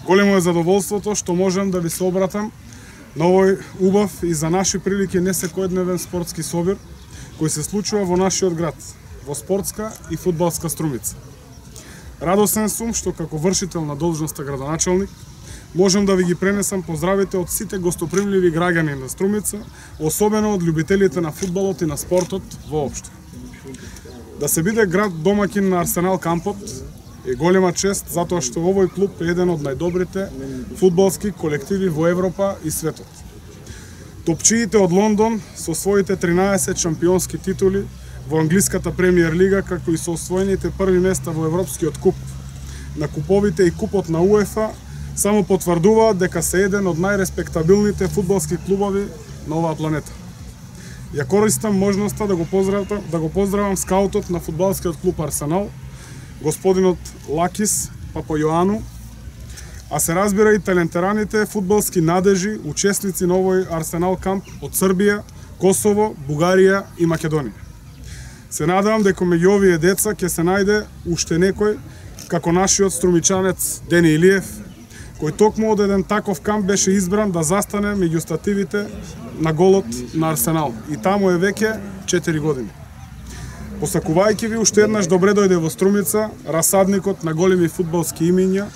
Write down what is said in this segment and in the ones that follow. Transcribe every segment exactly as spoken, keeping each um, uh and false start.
Големо е задоволството што можам да ви се обратам на овој убав и за наши прилики не секојдневен спортски собир кој се случува во нашиот град, во спортска и фудбалска Струмица. Радосен сум што како вршител на должноста градоначалник можам да ви ги пренесам поздравите од сите гостопримливи граѓани на Струмица, особено од љубителите на фудбалот и на спортот воопшто. Да се биде град домаќин на Арсенал кампот е голема чест затоа што овој клуб е еден од најдобрите фудбалски колективи во Европа и светот. Топчиите од Лондон со своите тринаесет шампионски титули во англиската премиер лига, како и со освоените први места во Европскиот куп, на куповите и купот на УЕФА, само потврдуваат дека се еден од најреспектабилните фудбалски клубови на оваа планета. Ја користам можноста да го поздравам, да го поздравам скаутот на фудбалскиот клуб Арсенал, господинот Лакис Папојоану, а се разбира и талентераните фудбалски надежи, учесници на овој Арсенал камп од Србија, Косово, Бугарија и Македонија. Се надевам дека меѓу овие деца ќе се најде уште некој како нашиот струмичанец Дени Илиев, кој токму од еден таков камп беше избран да застане меѓу стативите на голот на Арсенал. И таму е веќе четири години. Посакувајќи ви уште еднаш добре дојде во Струмица, расадникот на големи фудбалски имиња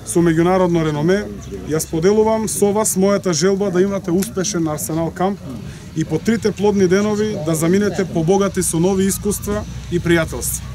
со меѓународно реноме, ја споделувам со вас мојата желба да имате успешен Арсенал камп и по трите плодни денови да заминете побогати со нови искуства и пријателства.